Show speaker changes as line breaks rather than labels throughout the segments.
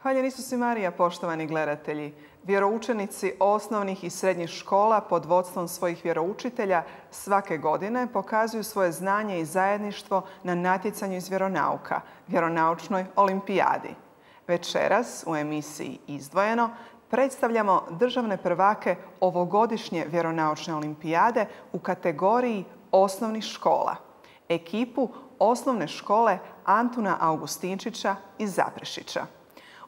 Hvaljen Isus i Marija, poštovani gledatelji. Vjeroučenici osnovnih i srednjih škola pod vodstvom svojih vjeroučitelja svake godine pokazuju svoje znanje i zajedništvo na natjecanju iz vjeronauka, vjeronaučnoj olimpijadi. Večeras u emisiji Izdvojeno predstavljamo državne prvake ovogodišnje vjeronaučne olimpijade u kategoriji osnovnih škola. Ekipu osnovne škole Antuna Augustinčića iz Zaprešića.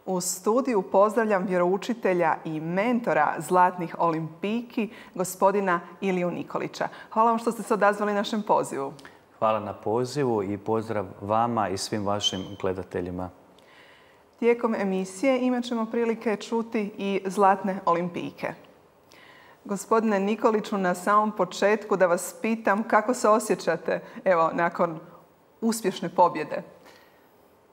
U studiju pozdravljam vjeroučitelja i mentora zlatnih olimpijki, gospodina Iliju Nikolića. Hvala vam što ste se odazvali našem pozivu.
Hvala na pozivu i pozdrav vama i svim vašim gledateljima.
Tijekom emisije imat ćemo prilike čuti i zlatne olimpijke. Gospodine Nikoliću, na samom početku da vas pitam kako se osjećate nakon uspješne pobjede?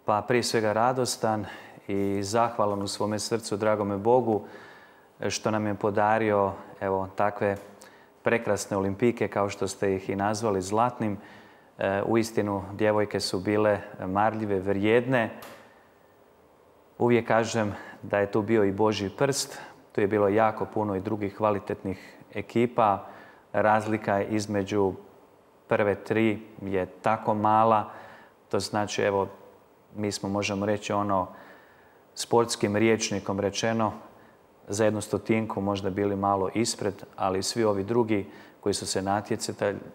Pa prije svega radostan i zahvalan u svome srcu dragome Bogu što nam je podario takve prekrasne olimpijke kao što ste ih i nazvali zlatnim. Uistinu djevojke su bile marljive, vrijedne. Uvijek kažem da je tu bio i Božji prst. Tu je bilo jako puno i drugih kvalitetnih ekipa. Razlika između prve tri je tako mala. To znači, mi smo, možemo reći, sportskim rječnikom rečeno, za 100 možda bili malo ispred, ali svi ovi drugi koji su se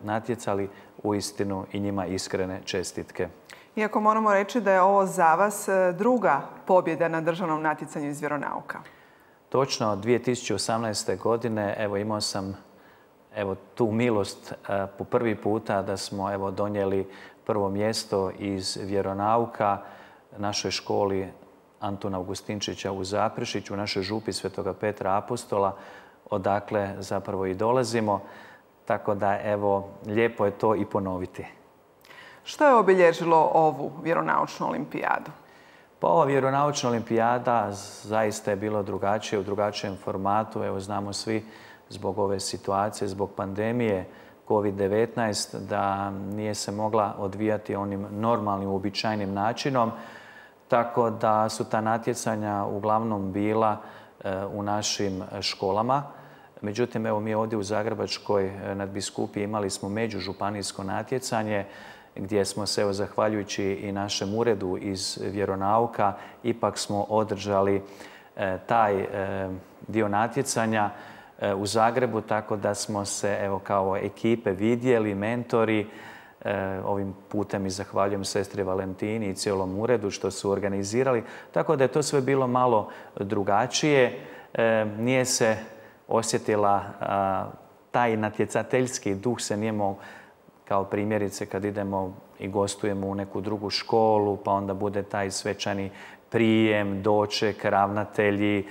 natjecali, uistinu i njima iskrene čestitke.
Iako moramo reći da je ovo za vas druga pobjeda na državnom natjecanju iz vjeronauka.
Točno, 2018. godine imao sam tu milost po prvi puta da smo donijeli prvo mjesto iz vjeronauka našoj školi Antuna Augustinčića u Zaprešiću, u našoj župi Svetoga Petra Apostola, odakle zapravo i dolazimo. Tako da, lijepo je to i ponoviti.
Što je obilježilo ovu vjeronaučnu olimpijadu?
Pa ova vjeronaučna olimpijada zaista je bila drugačija, u drugačijem formatu. Znamo svi zbog ove situacije, zbog pandemije COVID-19, da nije se mogla odvijati onim normalnim, uobičajenim načinom. Tako da su ta natjecanja uglavnom bila u našim školama. Međutim, mi ovdje u Zagrebačkoj nadbiskupiji imali smo međužupanijsko natjecanje gdje smo se, zahvaljujući i našem uredu iz vjeronauka, ipak smo održali taj dio natjecanja u Zagrebu, tako da smo se kao ekipe vidjeli, mentori. Ovim putem i zahvaljujem sestri Valentini i cijelom uredu što su organizirali. Tako da je to sve bilo malo drugačije. Nije se osjetila taj natjecateljski duh, se nije kao primjerice kad idemo i gostujemo u neku drugu školu, pa onda bude taj svečani prijem, doček, ravnatelji,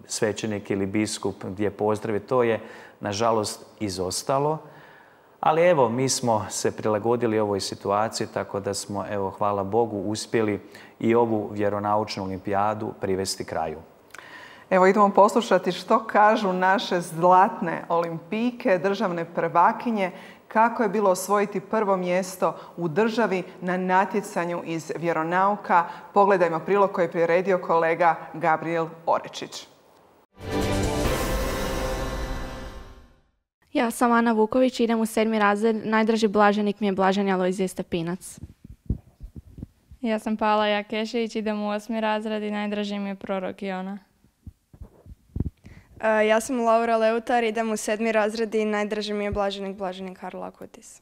svećenik ili biskup gdje pozdravi. To je, nažalost, izostalo. Ali mi smo se prilagodili ovoj situaciji, tako da smo, hvala Bogu, uspjeli i ovu vjeronaučnu olimpijadu privesti kraju.
Idemo poslušati što kažu naše zlatne olimpijke, državne prvakinje, kako je bilo osvojiti prvo mjesto u državi na natjecanju iz vjeronauka. Pogledajmo prilog koji je priredio kolega Gabriel Orečić.
Ja sam Ana Vuković, idem u 7. razred. Najdraži blaženik mi je Blaženi Alojzije Stepinac.
Ja sam Pala Jakešević, idem u 8. razred i najdraži mi je prorok Jona.
Ja sam Laura Leutar, idem u 7. razred i najdraži mi je blaženik Karol Akutis.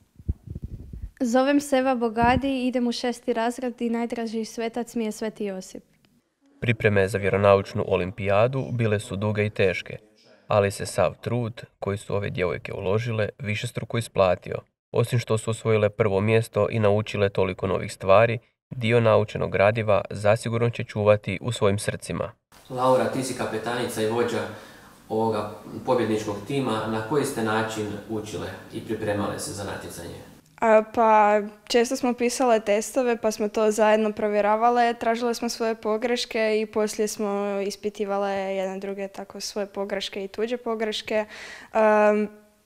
Zovem se Eva Bogadi, idem u 6. razred i najdraži svetac mi je Sveti Josip.
Pripreme za vjeronaučnu olimpijadu bile su duge i teške, ali se sav trud koji su ove djevojke uložile višestruko isplatio. Osim što su osvojile prvo mjesto i naučile toliko novih stvari, dio naučenog gradiva zasigurno će čuvati u svojim srcima.
Laura, ti si kapetanica i vođa ovoga pobjedničkog tima. Na koji ste način učile i pripremale se za natjecanje?
Pa često smo pisale testove pa smo to zajedno provjeravale, tražile smo svoje pogreške i poslije smo ispitivale jedne druge tako svoje pogreške i tuđe pogreške.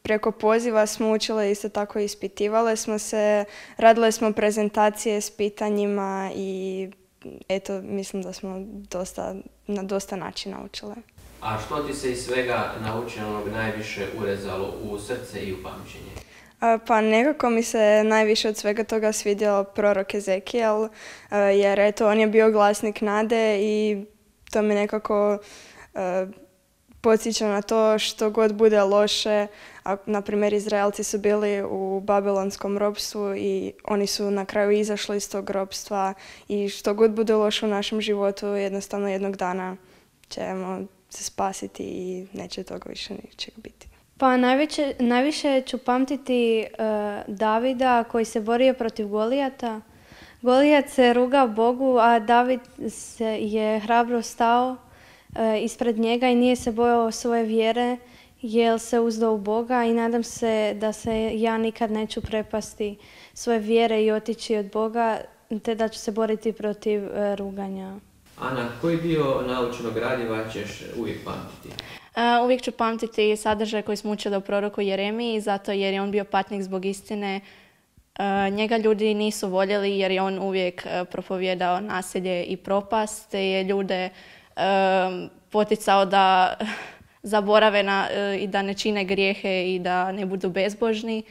Preko poziva smo učile isto tako ispitivale smo se, radile smo prezentacije s pitanjima i eto, mislim da smo na dosta načina učile.
A što ti se iz svega naučenog najviše urezalo u srce i u pamćenje?
Pa nekako mi se najviše od svega toga svidio prorok Ezekijel, jer eto, on je bio glasnik nade i to mi nekako podsjeća na to što god bude loše. Na primjer, Izraelci su bili u babilonskom ropstvu i oni su na kraju izašli iz tog ropstva i što god bude loše u našem životu, jednostavno jednog dana ćemo se spasiti i neće toga više ničeg biti.
Pa najviše ću pamtiti Davida koji se borio protiv Golijata. Golijat se rugao Bogu, a David je hrabro stao ispred njega i nije se bojao svoje vjere, jer se uzdao u Boga i nadam se da se ja nikad neću prepasti svoje vjere i otići od Boga, te da ću se boriti protiv ruganja.
Ana, koji dio naučenog gradiva ćeš uvijek pamtiti?
Uvijek ću pamtiti sadržaj koji smo učili o proroku Jeremiji, zato jer je on bio patnik zbog istine. Njega ljudi nisu voljeli jer je on uvijek propovjedao nasilje i propast, te je ljude poticao da zaborave i da ne čine grijehe i da ne budu bezbožni.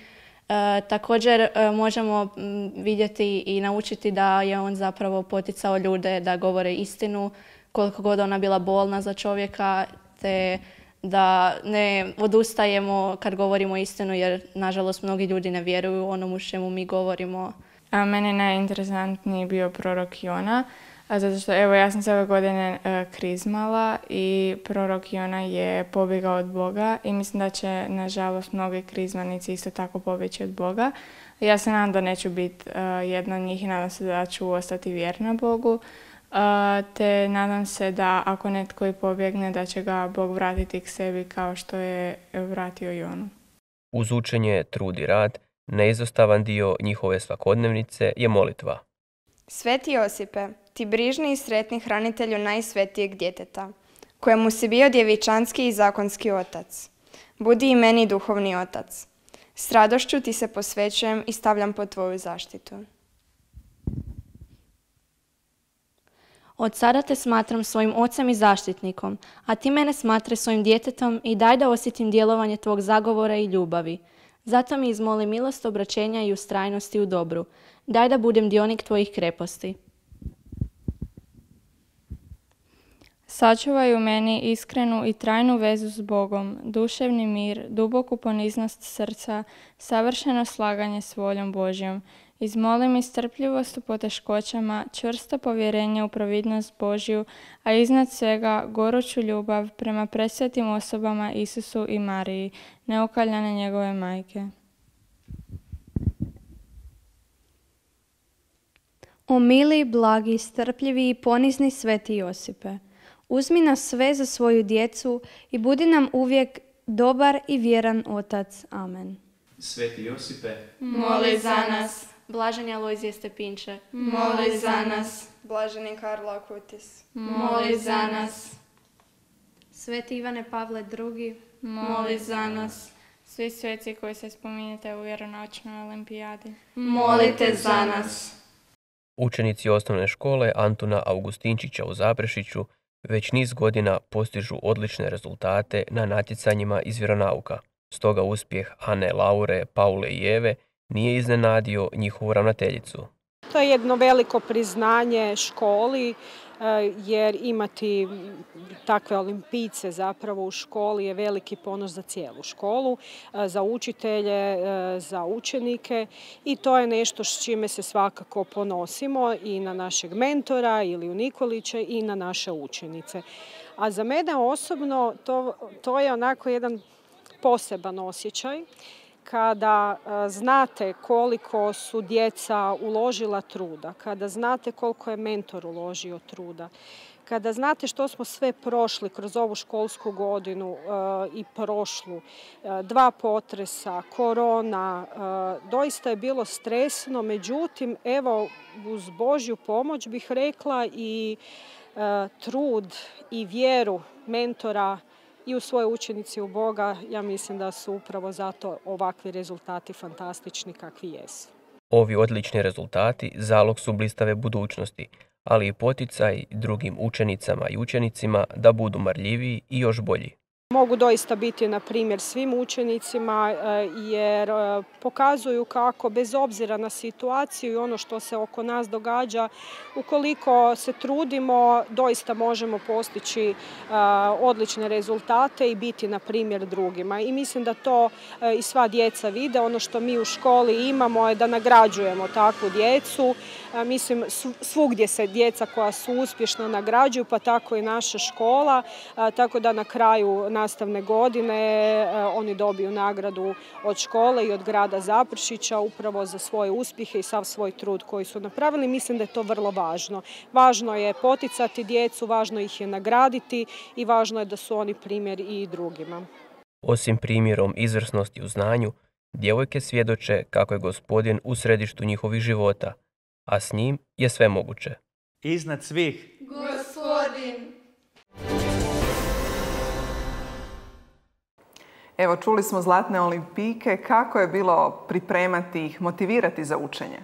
Također možemo vidjeti i naučiti da je on zapravo poticao ljude da govore istinu, koliko god ona bila bolna za čovjeka, te da ne odustajemo kad govorimo istinu, jer nažalost mnogi ljudi ne vjeruju onomu čemu mi govorimo.
A meni je najinteresantniji bio prorok Jona, zato što evo ja sam se ove godine krizmala i prorok Jona je pobjegao od Boga i mislim da će nažalost mnogi krizmanici isto tako pobjeći od Boga. Ja se nadam da neću biti jedna od njih i nadam se da ću ostati vjerna Bogu. Te nadam se da ako netko i pobjegne da će ga Bog vratiti k sebi kao što je vratio Jonu.
Uz učenje, trud i rad, neizostavan dio njihove svakodnevnice je molitva.
Sveti Josipe, ti brižni i sretni hranitelju najsvetijeg djeteta, kojemu si bio djevičanski i zakonski otac, budi i meni duhovni otac. S radošću ti se posvećujem i stavljam pod tvoju zaštitu.
Od sada te smatram svojim ocem i zaštitnikom, a ti mene smatraj svojim djetetom i daj da osjetim djelovanje tvog zagovora i ljubavi. Zato mi izmoli milost obraćenja i ustrajnosti u dobru. Daj da budem dionik tvojih kreposti.
Sačuvaj u meni iskrenu i trajnu vezu s Bogom, duševni mir, duboku poniznost srca, savršeno slaganje s voljom Božjom. Izmoli mi strpljivost u poteškoćama, čvrsto povjerenje u providnost Božju, a iznad svega goruću ljubav prema presvetim osobama Isusu i Mariji, neokaljane njegove majke.
O mili, blagi, strpljivi i ponizni sveti Josipe, uzmi nas sve za svoju djecu i budi nam uvijek dobar i vjeran otac. Amen.
Sveti Josipe,
Moli za nas.
Blaženi Alojzije Stepinče,
Moli za nas.
Blaženi Karlo Akutis,
Moli za nas.
Sveti Ivane Pavle II,
Moli za nas. Svi sveci koji se spominjete u vjeronaučnoj olimpijadi,
molite za nas.
Učenici osnovne škole Antuna Augustinčića u Zaprešiću već niz godina postižu odlične rezultate na natjecanjima iz vjeronauka. Stoga uspjeh Ane, Laure, Paule i Eve nije iznenadio njihovu ravnateljicu.
To je jedno veliko priznanje školi, jer imati takve olimpijce zapravo u školi je veliki ponos za cijelu školu, za učitelje, za učenike i to je nešto s čime se svakako ponosimo i na našeg mentora ili u Nikolića i na naše učenice. A za mene osobno to je onako jedan poseban osjećaj, kada znate koliko su djeca uložila truda, kada znate koliko je mentor uložio truda, kada znate što smo sve prošli kroz ovu školsku godinu i prošlu, 2 potresa, korona, doista je bilo stresno, međutim, evo, uz Božju pomoć bih rekla i trud i vjeru mentora i u svoje učenici u Boga, ja mislim da su upravo zato ovakvi rezultati fantastični kakvi jesu.
Ovi odlični rezultati zalog su blistave budućnosti, ali i poticaj drugim učenicama i učenicima da budu marljiviji i još bolji.
Mogu doista biti na primjer svim učenicima jer pokazuju kako bez obzira na situaciju i ono što se oko nas događa, ukoliko se trudimo, doista možemo postići odlične rezultate i biti na primjer drugima. I mislim da to i sva djeca vide. Ono što mi u školi imamo je da nagrađujemo takvu djecu. Mislim, svugdje se djeca koja su uspješna nagrađuju, pa tako i naša škola. Tako da na kraju nastavne godine oni dobiju nagradu od škole i od grada Zaprešića upravo za svoje uspjehe i sav svoj trud koji su napravili. Mislim da je to vrlo važno. Važno je poticati djecu, važno ih je nagraditi i važno je da su oni primjer i drugima.
Osim primjerom izvrsnosti u znanju, djevojke svjedoče kako je Gospodin u središtu njihovih života, a s njim je sve moguće.
Iznad svih
Gospodin.
Evo, čuli smo zlatne olimpijke. Kako je bilo pripremati ih, motivirati za učenje?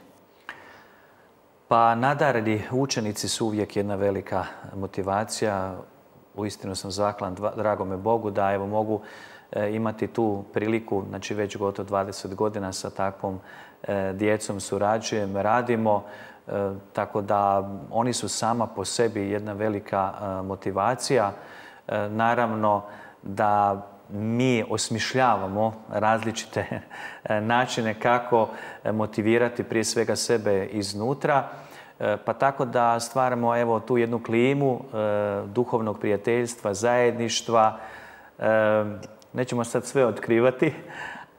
Pa nadareni učenici su uvijek jedna velika motivacija. Uistinu sam zahvalan dragome Bogu da evo mogu imati tu priliku, znači već gotovo 20 godina sa takvom djecom surađujem, radimo, tako da oni su sama po sebi jedna velika motivacija. Naravno da mi osmišljavamo različite načine kako motivirati prije svega sebe iznutra, pa tako da stvaramo evo tu jednu klimu duhovnog prijateljstva, zajedništva. Nećemo sad sve otkrivati,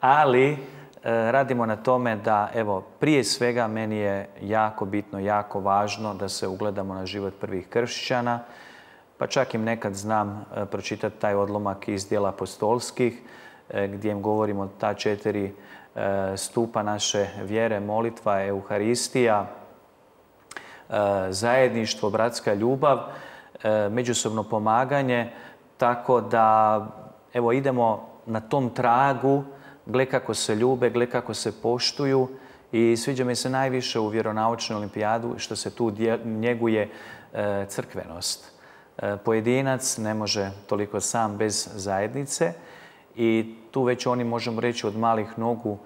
ali radimo na tome da evo prije svega meni je jako bitno, jako važno da se ugledamo na život prvih kršćana. Pa čak im nekad znam pročitati taj odlomak iz djela apostolskih gdje im govorimo ta 4 stupa naše vjere, molitva, euharistija, zajedništvo, bratska ljubav, međusobno pomaganje. Tako da evo idemo na tom tragu, gle kako se ljube, gle kako se poštuju i sviđa mi se najviše u vjeronaučnoj olimpijadu što se tu njeguje crkvenost. Pojedinac ne može toliko sam bez zajednice i tu već oni, možemo reći, od malih nogu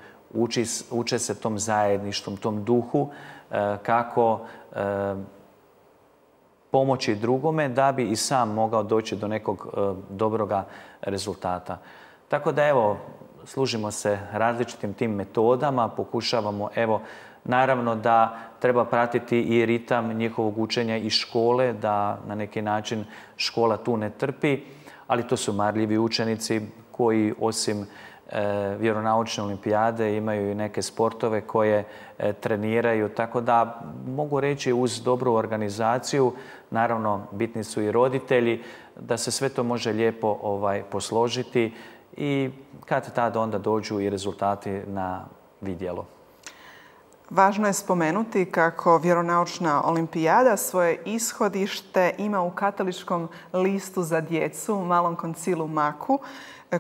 uče se tom zajedništvom, tom duhu kako pomoći drugome da bi i sam mogao doći do nekog dobroga rezultata. Tako da evo, služimo se različitim tim metodama, pokušavamo evo, naravno da treba pratiti i ritam njihovog učenja iz škole, da na neki način škola tu ne trpi, ali to su marljivi učenici koji osim vjeronaučne olimpijade imaju i neke sportove koje treniraju, tako da mogu reći uz dobru organizaciju, naravno bitni su i roditelji, da se sve to može lijepo posložiti i kad tad onda dođu i rezultati na vidjelo.
Važno je spomenuti kako vjeronaučna olimpijada svoje ishodište ima u Katoličkom listu za djecu, Malom koncilu Maku,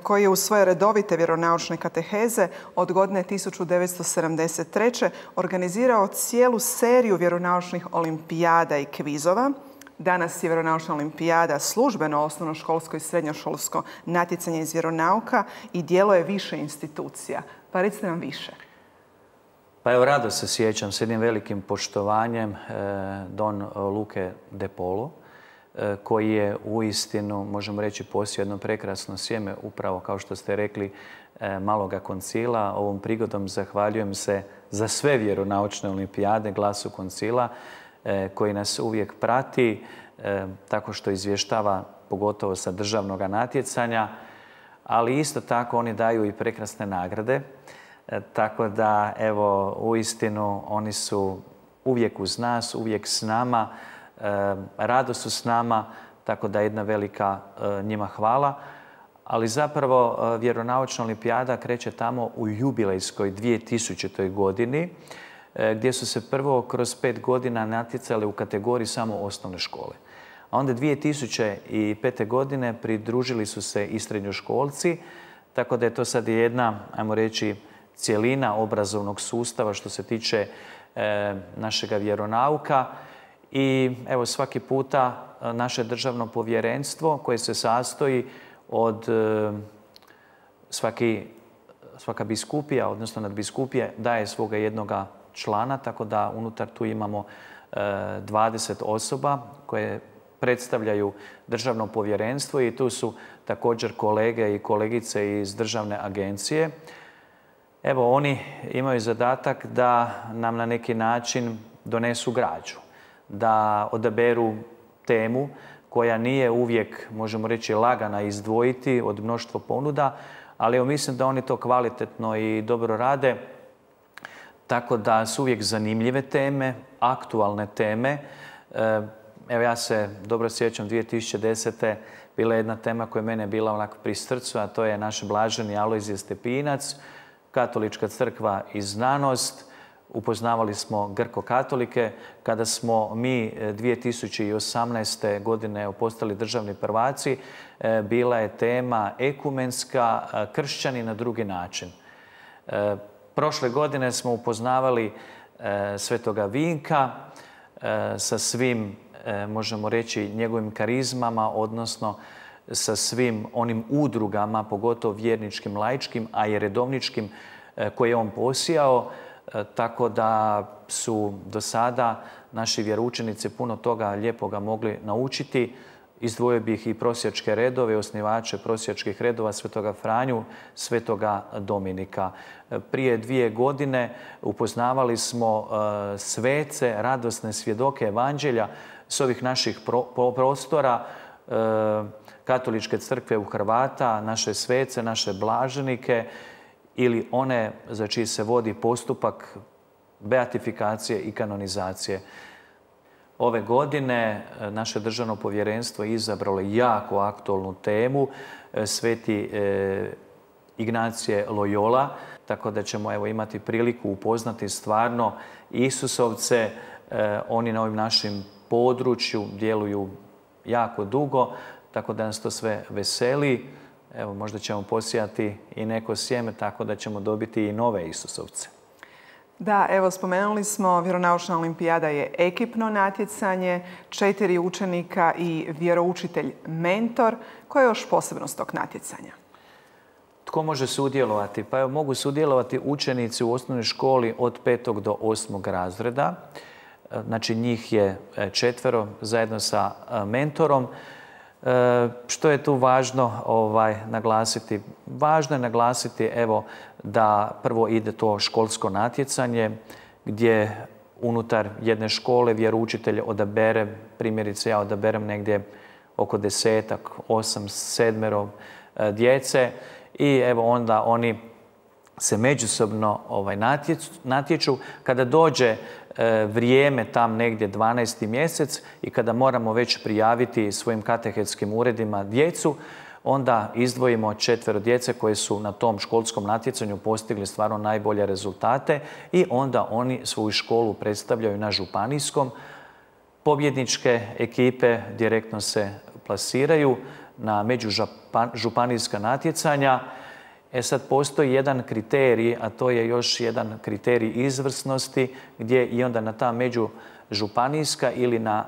koji je u svoje redovite vjeronaučne kateheze od godine 1973. organizirao cijelu seriju vjeronaučnih olimpijada i kvizova. Danas je vjeronaučna olimpijada službeno osnovnoškolsko i srednjoškolsko natjecanje iz vjeronauka i djeluje više institucija. Pa recite nam više.
Pa evo, rado se sjećam s jednim velikim poštovanjem Don Luke de Polo, koji je uistinu, možemo reći, posio jedno prekrasno sjeme, upravo kao što ste rekli, Maloga koncila. Ovom prigodom zahvaljujem se za sve vjeronaučne olimpijade Glasu koncila, koji nas uvijek prati, tako što izvještava, pogotovo sa državnog natjecanja, ali isto tako oni daju i prekrasne nagrade. Tako da, evo, uistinu oni su uvijek uz nas, uvijek s nama, rado su s nama, tako da jedna velika njima hvala. Ali zapravo vjeronaučna olimpijada kreće tamo u jubilejskoj 2000. godini, gdje su se prvo kroz 5 godina natjecali u kategoriji samo osnovne škole. A onda 2005. godine pridružili su se i srednjoškolci, tako da je to sad jedna, ajmo reći, cjelina obrazovnog sustava što se tiče našega vjeronauka. I evo, svaki puta naše državno povjerenstvo koje se sastoji od svaka biskupija, odnosno nadbiskupije, daje svoga jednoga člana, tako da unutar tu imamo 20 osoba koje predstavljaju državno povjerenstvo i tu su također kolege i kolegice iz državne agencije. Evo, oni imaju zadatak da nam na neki način donesu građu, da odaberu temu koja nije uvijek, možemo reći, lagana izdvojiti od mnoštva ponuda, ali evo, mislim da oni to kvalitetno i dobro rade, tako da su uvijek zanimljive teme, aktualne teme. Evo, ja se dobro sjećam 2010. bila je jedna tema koja je mene bila onako pri srcu, a to je naš blaženi Alojzije Stepinac, Katolička crkva i znanost. Upoznavali smo grko-katolike. Kada smo mi 2018. godine postali državni prvaci, bila je tema ekumenska, kršćani na drugi način. Prošle godine smo upoznavali Svetoga Vinka sa svim, možemo reći, njegovim karizmama, odnosno sa svim onim udrugama, pogotovo vjerničkim, laičkim, a i redovničkim koje je on posijao. Tako da su do sada naši vjeroučenici puno toga lijepoga mogli naučiti. Izdvojio bih i prosjačke redove, osnivače prosjačkih redova Svetoga Franju, Svetoga Dominika. Prije 2 godine upoznavali smo svece, radosne svjedoke evanđelja s ovih naših prostora, Katoličke crkve u Hrvata, naše svece, naše blaženike ili one za čiji se vodi postupak beatifikacije i kanonizacije. Ove godine naše državno povjerenstvo je izabralo jako aktualnu temu, Sveti Ignacije Loyola, tako da ćemo evo imati priliku upoznati stvarno Isusovce. Oni na ovim našim području djeluju jako dugo, tako da nas to sve veseli. Evo, možda ćemo posijati i neko sjeme, tako da ćemo dobiti i nove Isusovce.
Da, evo, spomenuli smo, vjeronaučna olimpijada je ekipno natjecanje, 4 učenika i vjeroučitelj mentor. Koja je još posebnost tog natjecanja?
Tko može sudjelovati? Pa evo, mogu sudjelovati učenici u osnovnoj školi od 5. do 8. razreda. Znači, njih je 4 zajedno sa mentorom. Što je tu važno naglasiti? Važno je naglasiti evo, da prvo ide to školsko natjecanje gdje unutar jedne škole vjeroučitelj odabere, primjerice ja odaberem negdje oko 10-ak, 8, 7 djece i evo onda oni se međusobno natječu. Kada dođe vrijeme tam negdje 12. mjesec i kada moramo već prijaviti svojim katehetskim uredima djecu, onda izdvojimo 4 djece koje su na tom školskom natjecanju postigli stvarno najbolje rezultate i onda oni svoju školu predstavljaju na županijskom. Pobjedničke ekipe direktno se plasiraju na međužupanijska natjecanja. Sad postoji jedan kriterij, a to je još jedan kriterij izvrsnosti gdje i onda na ta međužupanijska ili na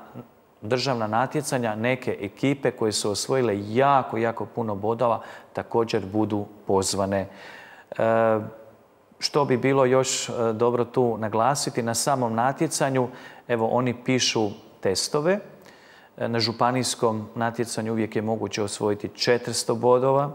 državna natjecanja neke ekipe koje su osvojile jako, jako puno bodova također budu pozvane. Što bi bilo još dobro tu naglasiti, na samom natjecanju, evo oni pišu testove. Na županijskom natjecanju uvijek je moguće osvojiti 400 bodova.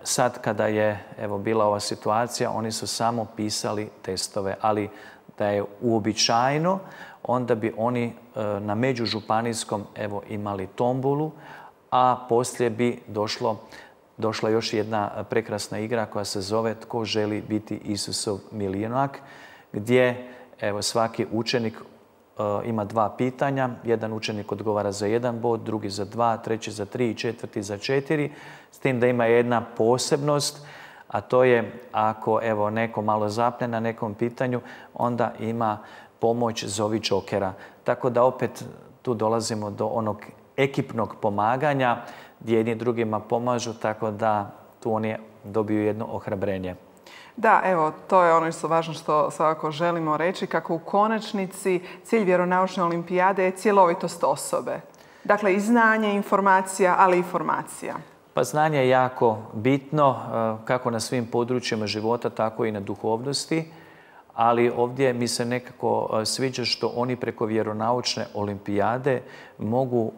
Sad kada je evo, bila ova situacija, oni su samo pisali testove, ali da je uobičajeno, onda bi oni na međužupanijskom evo, imali tombolu, a poslije bi došlo došla još jedna prekrasna igra koja se zove Tko želi biti Isusov milionak, gdje evo, svaki učenik ima 2 pitanja. Jedan učenik odgovara za 1 bod, drugi za 2, treći za 3 i četvrti za 4. S tim da ima jedna posebnost, a to je ako evo, neko malo zapne na nekom pitanju, onda ima pomoć zovi Jokera. Tako da opet tu dolazimo do onog ekipnog pomaganja gdje jedni drugima pomažu, tako da tu oni dobiju jedno ohrabrenje.
Da, evo, to je ono što je važno što svakako želimo reći, kako u konačnici cilj vjeronaučne olimpijade je cjelovitost osobe. Dakle, i znanje, informacija, ali i formacija.
Pa znanje je jako bitno, kako na svim područjima života, tako i na duhovnosti. Ali ovdje mi se nekako sviđa što oni preko vjeronaučne olimpijade mogu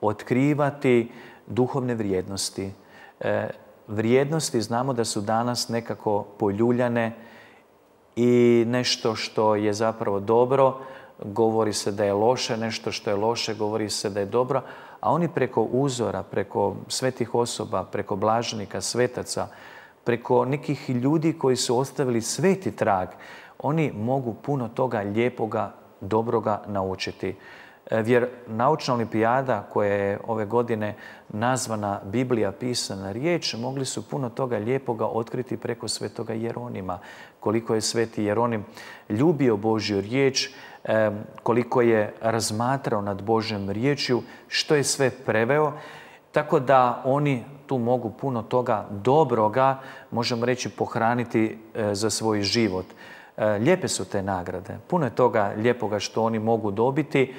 otkrivati duhovne vrijednosti. Vrijednosti znamo da su danas nekako poljuljane i nešto što je zapravo dobro, govori se da je loše, nešto što je loše, govori se da je dobro, a oni preko uzora, preko svetih osoba, preko blaženika, svetaca, preko nekih ljudi koji su ostavili sveti trag, oni mogu puno toga lijepoga, dobroga naučiti. Vjeronaučna olimpijada koja je ove godine nazvana Biblija pisana riječ, mogli su puno toga lijepoga otkriti preko svetoga Jeronima. Koliko je sveti Jeronim ljubio Božju riječ, koliko je razmatrao nad Božjom riječju, što je sve preveo. Tako da oni tu mogu puno toga dobroga, možemo reći, pohraniti za svoj život. Lijepe su te nagrade. Puno je toga lijepoga što oni mogu dobiti.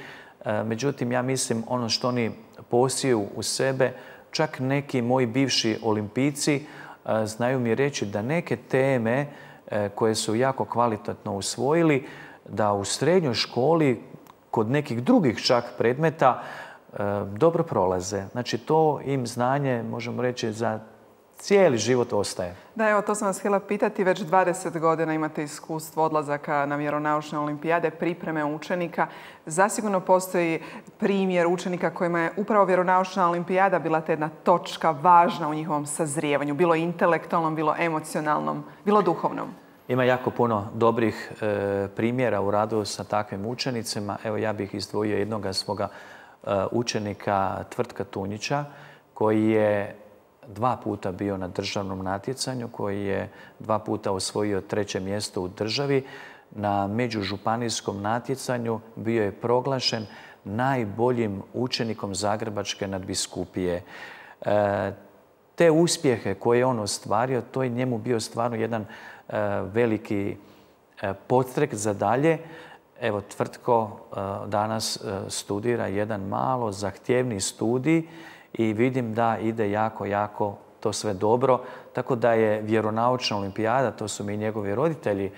Međutim, ja mislim ono što oni posiju u sebe, čak neki moji bivši olimpijci znaju mi reći da neke teme koje su jako kvalitetno usvojili, da u srednjoj školi kod nekih drugih čak predmeta dobro prolaze. Znači to im znanje, možemo reći, za cijeli život ostaje.
Da, evo, to sam vas htjela pitati. Već 20 godina imate iskustvo odlazaka na vjeronaučne olimpijade, pripreme učenika. Zasigurno postoji primjer učenika kojima je upravo vjeronaučna olimpijada bila ta jedna točka važna u njihovom sazrijevanju, bilo intelektualnom, bilo emocionalnom, bilo duhovnom.
Ima jako puno dobrih primjera u radu sa takvim učenicima. Evo, ja bih izdvojio jednoga svoga učenika Tvrtka Tunjića, koji je 2 puta bio na državnom natjecanju, koji je 2 puta osvojio 3. mjesto u državi. Na međužupanijskom natjecanju bio je proglašen najboljim učenikom Zagrebačke nadbiskupije. Te uspjehe koje je on ostvario, to je njemu bio stvarno jedan veliki podstrek za dalje. Evo, Tvrtko danas studira jedan malo zahtjevni studij i vidim da ide jako to sve dobro. Tako da je vjeronaučna olimpijada, to su mi njegovi roditelji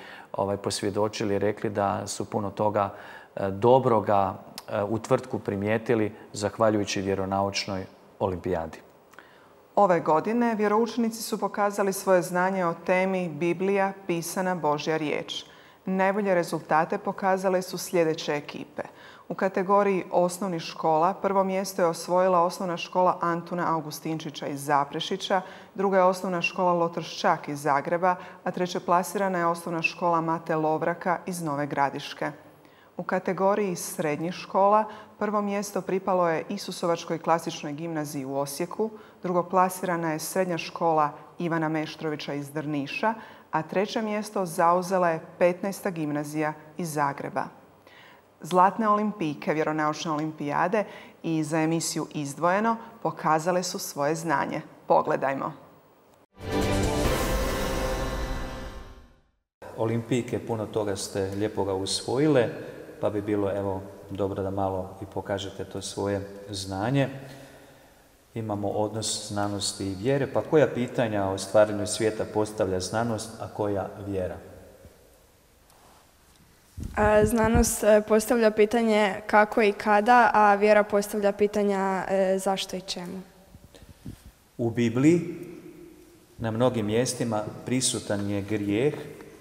posvjedočili, rekli da su puno toga dobroga u Tvrtku primijetili zahvaljujući vjeronaučnoj olimpijadi.
Ove godine vjeroučenici su pokazali svoje znanje o temi Biblija pisana Božja riječ. Najbolje rezultate pokazale su sljedeće ekipe. U kategoriji osnovnih škola prvo mjesto je osvojila osnovna škola Antuna Augustinčića iz Zaprešića, druga je osnovna škola Lotrščak iz Zagreba, a treće plasirana je osnovna škola Mate Lovraka iz Nove Gradiške. U kategoriji srednjih škola prvo mjesto pripalo je Isusovačkoj klasičnoj gimnaziji u Osijeku, drugo plasirana je srednja škola Ivana Meštrovića iz Drniša, a treće mjesto zauzela je 15. gimnazija iz Zagreba. Zlatne olimpijke vjeronaučne olimpijade i za emisiju Izdvojeno pokazale su svoje znanje. Pogledajmo.
Olimpijke, puno toga ste lijepoga usvojile, pa bi bilo evo dobro da malo i pokažete to svoje znanje. Imamo odnos znanosti i vjere, pa koja pitanja o stvaranju svijeta postavlja znanost, a koja vjera?
Znanost postavlja pitanje kako i kada, a vjera postavlja pitanja zašto i čemu.
U Bibliji na mnogim mjestima prisutan je grijeh,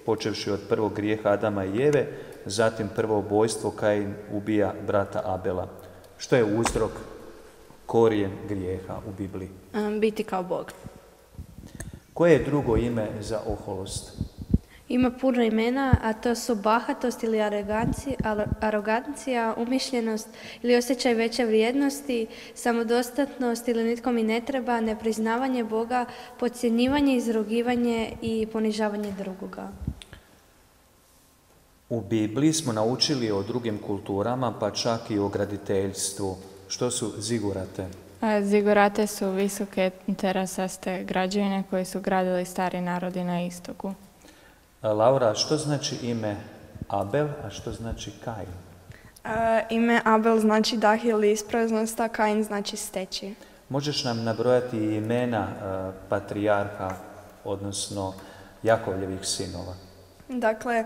počevši od prvog grijeha Adama i Eve, zatim prvo ubojstvo Kain ubija brata Abela. Što je uzrok, korijen grijeha u Bibliji?
Biti kao Bog.
Koje je drugo ime za oholost?
Ima puno imena, a to su bahatost ili arogancija, umišljenost ili osjećaj veće vrijednosti, samodostatnost ili nitko mi ne treba, nepriznavanje Boga, podcjenjivanje, izrugivanje i ponižavanje drugoga.
U Bibliji smo naučili o drugim kulturama, pa čak i o graditeljstvu. Što su zigurate?
Zigurate su visoke terasaste građevine koje su gradili stari narodi na istoku.
Laura, što znači ime Abel, a što znači Kain?
Ime Abel znači dah ili ispraznost, a Kain znači steći.
Možeš nam nabrojati imena patrijarha, odnosno Jakovljevih sinova?
Dakle,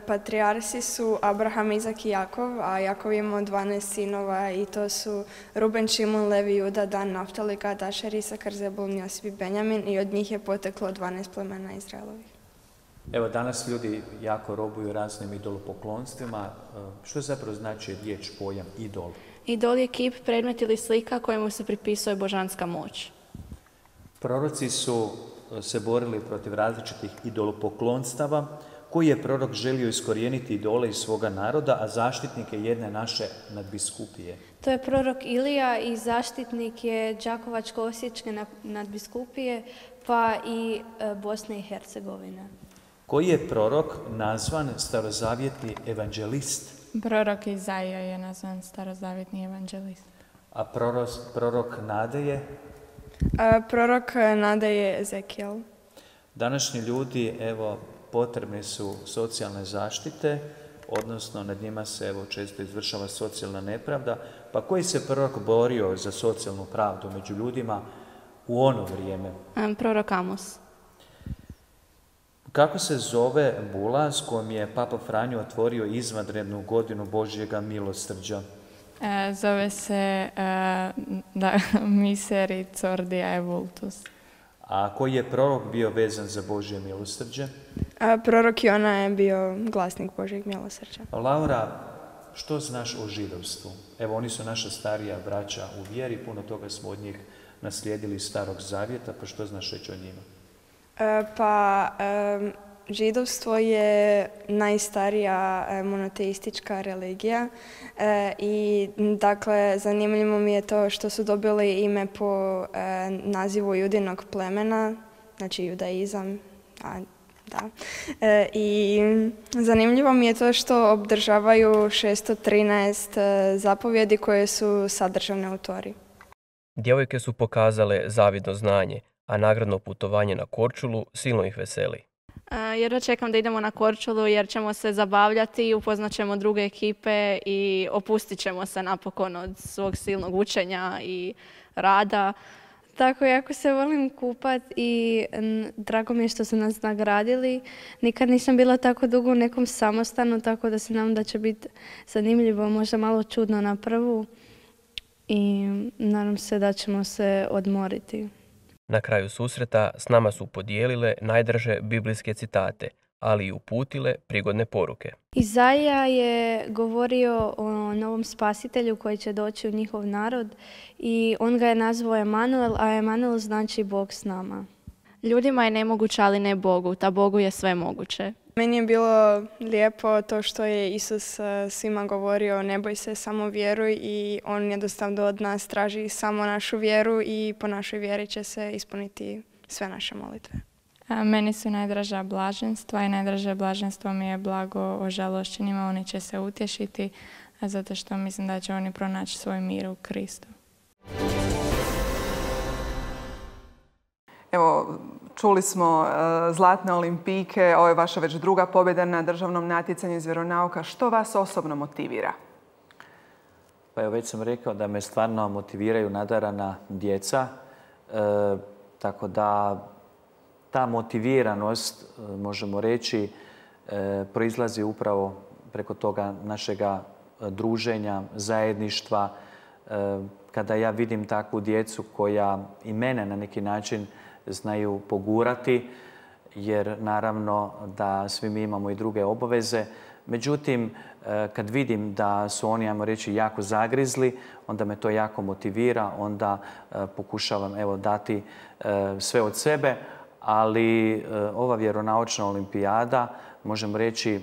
patrijarsi su Abraham, Izak i Jakov, a Jakov imao 12 sinova i to su Ruben, Šimun, Levi, Juda, Dan, Naftali, Gad, Ašer, Isakar, Zebulun, Josip i Benjamin i od njih je poteklo 12 plemena Izraelovih.
Evo, danas ljudi jako robuju raznim idolopoklonstvima. Što zapravo znači riječ, pojam idol?
Idol je kip, predmet ili slika kojemu se pripisuje božanska moć.
Proroci su se borili protiv različitih idolopoklonstava. Koji je prorok želio iskorijeniti idole iz svoga naroda, a zaštitnik je jedne naše nadbiskupije?
To je prorok Ilija i zaštitnik je Đakovačko-osječke nadbiskupije, pa i Bosne i Hercegovine.
Koji je prorok nazvan starozavjetni evanđelist?
Prorok Izaija je nazvan starozavjetni evanđelist.
A prorok Nade je?
Prorok Nade je Ezekijel.
Današnji ljudi, evo, potrebne su socijalne zaštite, odnosno nad njima se evo često izvršava socijalna nepravda. Pa koji se prorok borio za socijalnu pravdu među ljudima u ono vrijeme?
Prorok Amos.
Kako se zove bula s kojom je Papa Franjo otvorio izvanrednu godinu Božjega milosrđa?
Zove se Misericordija Evultus.
A koji je prorok bio vezan za Božje milosrđe?
Prorok Jona je bio glasnik Božjeg milosrđa.
Laura, što znaš o židovstvu? Evo, oni su naša starija braća u vjeri, puno toga smo od njih naslijedili iz Starog Zavjeta, pa što znaš reći o njima?
Židovstvo je najstarija monoteistička religija i dakle zanimljivo mi je to što su dobili ime po nazivu judinog plemena, znači judaizam, i zanimljivo mi je to što obdržavaju 613 zapovjedi koje su sadržane u Tori.
Djevojke su pokazale zavidno znanje, a nagradno putovanje na Korčulu silno ih veseli.
Jedva čekam da idemo na Korčulu jer ćemo se zabavljati, upoznat ćemo druge ekipe i opustit ćemo se napokon od svog silnog učenja i rada.
Tako, jako se volim kupat i drago mi je što su nas nagradili. Nikad nisam bila tako dugo u nekom samostanu, tako da se nadam da će biti zanimljivo, možda malo čudno na prvu i nadam se da ćemo se odmoriti.
Na kraju susreta s nama su podijelile najdraže biblijske citate, ali i uputile prigodne poruke.
Izaija je govorio o novom spasitelju koji će doći u njihov narod i on ga je nazvao Emanuel, a Emanuel znači Bog s nama.
Ljudima je nemoguće, ali ne Bogu, ta Bogu je sve moguće.
Meni je bilo lijepo to što je Isus svima govorio ne boj se, samo vjeruj i on jednostavno od nas traži samo našu vjeru i po našoj vjeri će se ispuniti sve naše molitve.
Meni su najdraža blaženstva i najdraže blaženstvo mi je blago ožalošćenima, oni će se utješiti zato što mislim da će oni pronaći svoj mir u Kristu.
Evo, čuli smo zlatne olimpijke, ovo je vaša već druga pobjeda na državnom natjecanju iz vjeronauka. Što vas osobno motivira?
Pa evo, već sam rekao da me stvarno motiviraju nadarana djeca, tako da ta motiviranost, možemo reći, proizlazi upravo preko toga našega druženja, zajedništva. Kada ja vidim takvu djecu koja i mene na neki način znaju pogurati, jer naravno da svi mi imamo i druge obaveze. Međutim, kad vidim da su oni, ajmo reći, jako zagrizli, onda me to jako motivira, onda pokušavam dati sve od sebe. ali ova vjeronaučna olimpijada, možemo reći,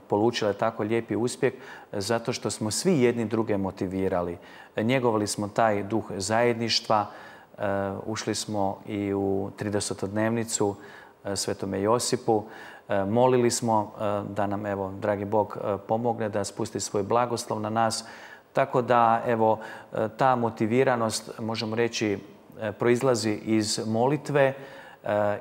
polučila je tako lijepi uspjeh zato što smo svi jedni druge motivirali. Njegovali smo taj duh zajedništva, ušli smo i u 30-dnevnicu Svetome Josipu, molili smo da nam, evo, dragi Bog pomogne da spusti svoj blagoslov na nas. Tako da, evo, ta motiviranost, možemo reći, proizlazi iz molitve,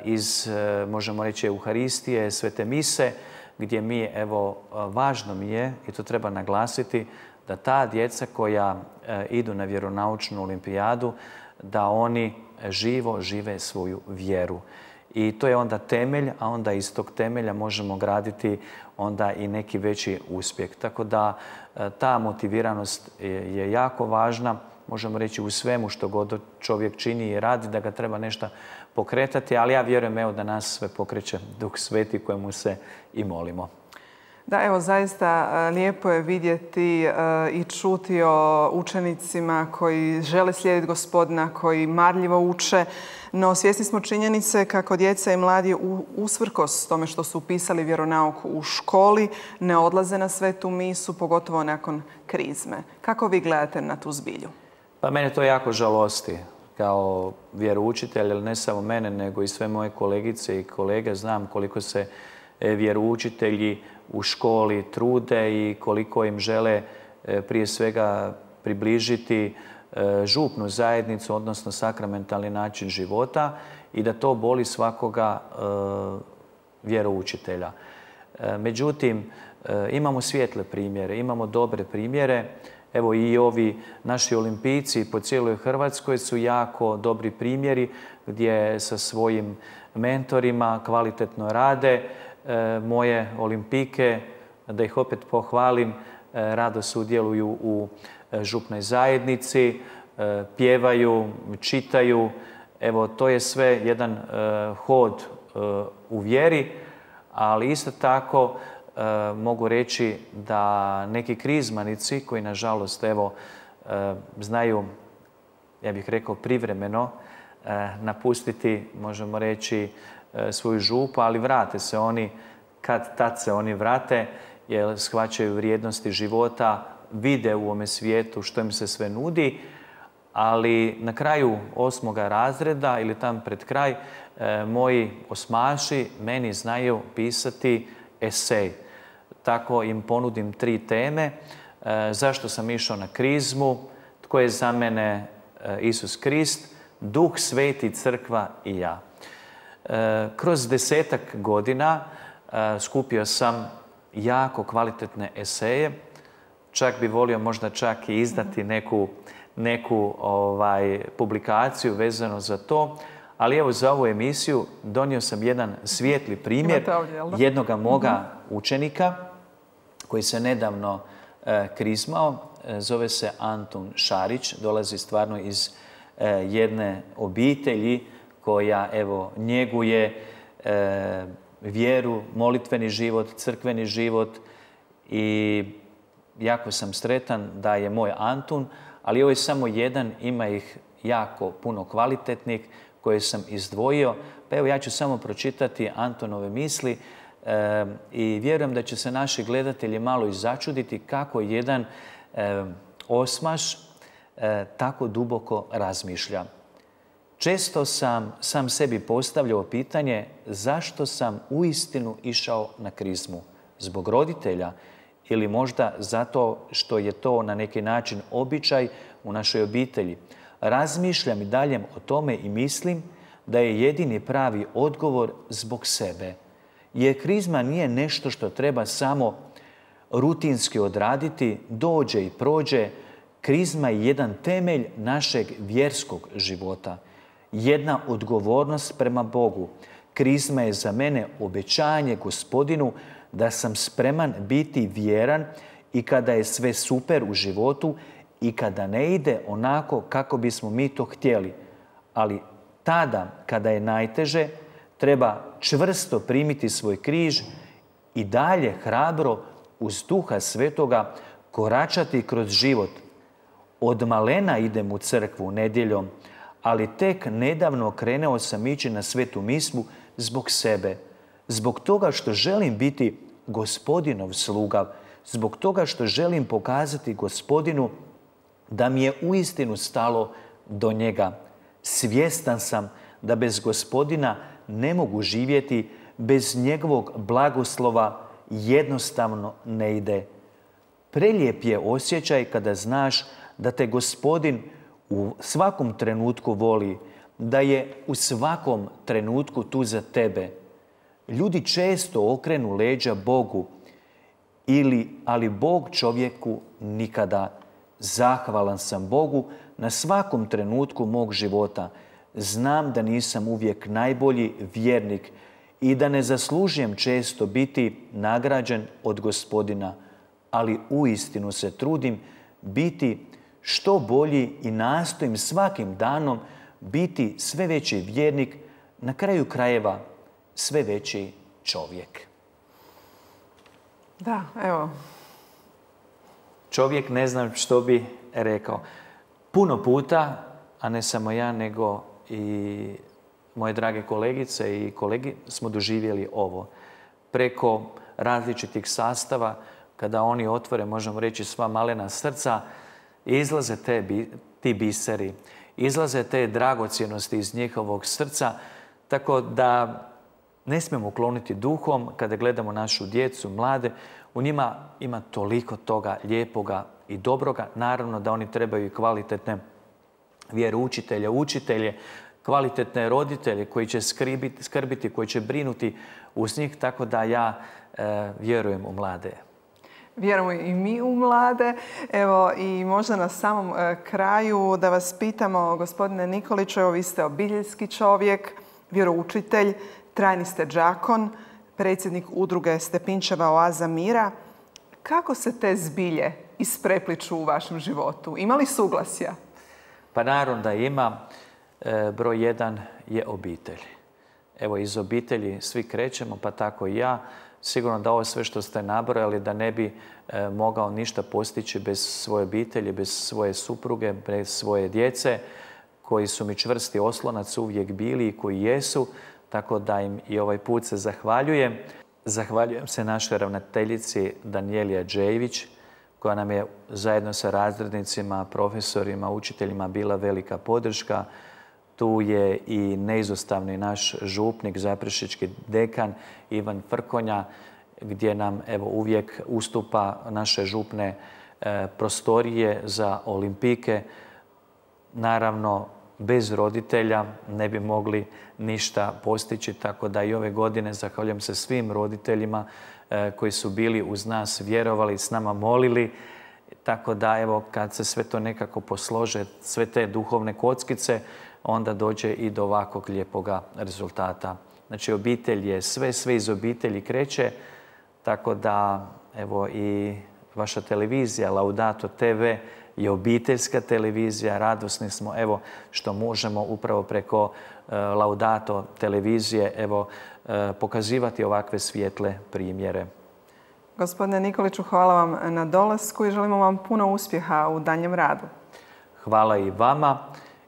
iz, možemo reći, Euharistije, Svete mise, gdje mi, evo, važno mi je, i to treba naglasiti, da ta djeca koja idu na vjeronaučnu olimpijadu, da oni živo žive svoju vjeru. I to je onda temelj, a onda iz tog temelja možemo graditi onda i neki veći uspjeh. Tako da ta motiviranost je jako važna. Možemo reći u svemu što god čovjek čini i radi, da ga treba nešto pokretati, ali ja vjerujem, evo, da nas sve pokreće Duh Sveti kojemu se i molimo.
Da, evo, zaista lijepo je vidjeti i čuti o učenicima koji žele slijediti Gospodina, koji marljivo uče, no svjesni smo činjenice kako djeca i mladi usprkos tome što su upisali vjeronauk u školi ne odlaze na svetu misu, pogotovo nakon krizme. Kako vi gledate na tu zbilju?
Pa mene to jako žalosti kao vjeroučitelj, ali ne samo mene, nego i sve moje kolegice i kolege. Znam koliko se vjeroučitelji u školi trude i koliko im žele prije svega približiti župnu zajednicu, odnosno sakramentalni način života, i da to boli svakoga vjeroučitelja. Međutim, imamo svijetle primjere, imamo dobre primjere. Evo i ovi naši olimpijci po cijeloj Hrvatskoj su jako dobri primjeri gdje sa svojim mentorima kvalitetno rade. Moje olimpijke, da ih opet pohvalim, rado sudjeluju u župnoj zajednici, pjevaju, čitaju. Evo, to je sve jedan hod u vjeri, ali isto tako mogu reći da neki krizmanici koji, nažalost, evo, znaju, ja bih rekao, privremeno napustiti, možemo reći, svoju župu, ali vrate se oni, tad se oni vrate, jer shvaćaju vrijednosti života, vide u ovome svijetu što im se sve nudi, ali na kraju 8. razreda ili tam pred kraj moji osmaši meni znaju pisati esej. Tako im ponudim 3 teme. Zašto sam išao na krizmu, tko je za mene Isus Krist, Duh Sveti, crkva i ja. Kroz 10-ak godina skupio sam jako kvalitetne eseje. Čak bi volio možda čak i izdati neku publikaciju vezano za to. Ali evo, za ovu emisiju donio sam jedan svijetli primjer jednoga moga učenika koji se nedavno krizmao. Zove se Antun Šarić, dolazi stvarno iz jedne obitelji koja, evo, njeguje vjeru, molitveni život, crkveni život, i jako sam sretan da je moj Antun, ali ovo je samo jedan, ima ih jako puno kvalitetnih koje sam izdvojio. Pa evo, ja ću samo pročitati Antonove misli i vjerujem da će se naši gledatelji malo i začuditi kako jedan osmaš tako duboko razmišlja. Često sam sebi postavljao pitanje zašto sam uistinu išao na krizmu. Zbog roditelja ili možda zato što je to na neki način običaj u našoj obitelji. Razmišljam i dalje o tome i mislim da je jedini pravi odgovor zbog sebe. Jer krizma nije nešto što treba samo rutinski odraditi, dođe i prođe. Krizma je jedan temelj našeg vjerskog života. Jedna odgovornost prema Bogu. Krizma je za mene obećanje Gospodinu da sam spreman biti vjeran i kada je sve super u životu i kada ne ide onako kako bismo mi to htjeli. Ali tada, kada je najteže, treba čvrsto primiti svoj križ i dalje hrabro uz Duha Svetoga koračati kroz život. Od malena idem u crkvu nedjeljom, ali tek nedavno krenuo sam ići na svetu mismu zbog sebe. Zbog toga što želim biti Gospodinov sluga, zbog toga što želim pokazati Gospodinu da mi je uistinu stalo do njega. Svjestan sam da bez Gospodina ne mogu živjeti, bez njegovog blagoslova jednostavno ne ide. Prelijep je osjećaj kada znaš da te Gospodin u svakom trenutku voli, da je u svakom trenutku tu za tebe. Ljudi često okrenu leđa Bogu, ali Bog čovjeku nikada. Zahvalan sam Bogu na svakom trenutku mog života. Znam da nisam uvijek najbolji vjernik i da ne zaslužujem često biti nagrađen od Gospodina, ali uistinu se trudim biti što bolji i nastojim svakim danom biti sve veći vjernik, na kraju krajeva sve veći čovjek.
Da, evo.
Čovjek ne znam što bi rekao. Puno puta, a ne samo ja, nego i moje drage kolegice i kolegi, smo doživjeli ovo. Preko različitih sastava, kada oni otvore, možemo reći, sva malena srca, izlaze ti biseri, izlaze te dragocjenosti iz njihovog srca, tako da ne smijemo ukloniti duhom kada gledamo našu djecu, mlade. U njima ima toliko toga lijepoga i dobroga. Naravno da oni trebaju i kvalitetne vjeroučitelje, učitelje, kvalitetne roditelje koji će skrbiti, koji će brinuti uz njih, tako da ja vjerujem u mlade.
Vjerujemo i mi u mlade. Evo i možda na samom kraju da vas pitamo, gospodine Nikoliću, evo vi ste obiteljski čovjek, vjeroučitelj, trajni ste đakon, predsjednik udruge Stepinčeva Oaza mira. Kako se te zbilje isprepliču u vašem životu? Ima li suglasja?
Pa naravno da ima. Broj jedan je obitelj. Evo, iz obitelji svi krećemo, pa tako i ja. Sigurno da ovo sve što ste nabrojali, da ne bi mogao ništa postići bez svoje obitelji, bez svoje supruge, bez svoje djece, koji su mi čvrsti oslonac uvijek bili i koji jesu, tako da im i ovaj put se zahvaljujem. Zahvaljujem se našoj ravnateljici Danijeli Adžejević, koja nam je zajedno sa razrednicima, profesorima, učiteljima bila velika podrška. Tu je i neizostavni naš župnik, zaprešički dekan Ivan Frkonja, gdje nam evo uvijek ustupa naše župne prostorije za olimpijke. Naravno, bez roditelja ne bi mogli ništa postići, tako da i ove godine zahvaljujem se svim roditeljima koji su bili uz nas, vjerovali, s nama molili. Tako da, evo, kad se sve to nekako poslože, sve te duhovne kockice, onda dođe i do ovakvog lijepoga rezultata. Znači, obitelj je sve iz obitelji kreće, tako da, evo, i vaša televizija, Laudato TV, je obiteljska televizija. Radosni smo, evo, što možemo upravo preko Laudato televizije, evo, pokazivati ovakve svijetle primjere.
Gospodine Nikoliću, hvala vam na dolasku i želimo vam puno uspjeha u daljem radu.
Hvala i vama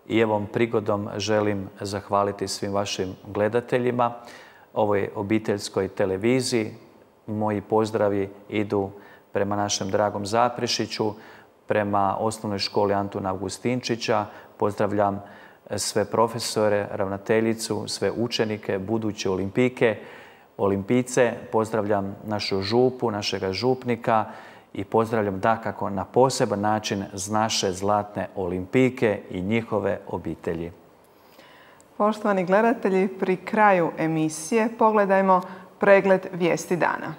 i ovom prigodom želim zahvaliti svim vašim gledateljima, ovoj obiteljskoj televiziji. Moji pozdravi idu prema našem dragom Zaprešiću, prema osnovnoj školi Antuna Augustinčića. Pozdravljam sve profesore, ravnateljicu, sve učenike, buduće olimpijke, olimpijce. Pozdravljam našu župu, našega župnika i pozdravljam dakako na poseban način naše zlatne olimpijke i njihove obitelji.
Poštovani gledatelji, pri kraju emisije pogledajmo pregled vijesti dana.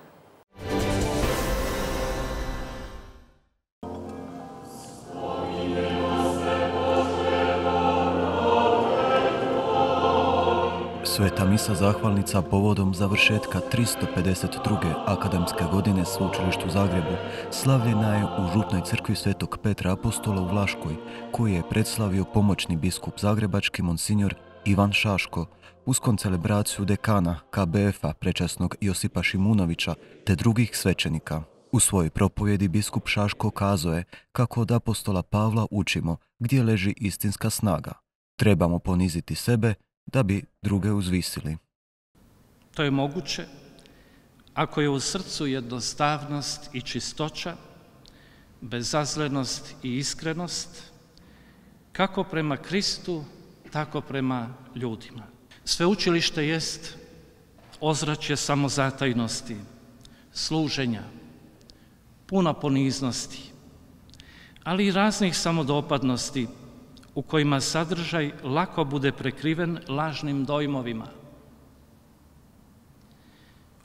Sveta misa zahvalnica povodom završetka 352. akademske godine Sveučilištu u Zagrebu slavljena je u župnoj crkvi Svetog Petra Apostola u Vlaškoj, koju je predslavio pomoćni biskup zagrebački monsinjor Ivan Šaško uz koncelebraciju dekana KBF-a prečasnog Josipa Šimunovića te drugih svećenika. U svojoj propovjedi biskup Šaško kazao je kako od apostola Pavla učimo gdje leži istinska snaga. Trebamo poniziti sebe da bi druge uzvisili.
To je moguće ako je u srcu jednostavnost i čistoća, bezazlenost i iskrenost, kako prema Kristu, tako prema ljudima. Sveučilište jest ozračje samozatajnosti, služenja, puno poniznosti, ali i raznih samodopadnosti u kojima sadržaj lako bude prekriven lažnim dojmovima.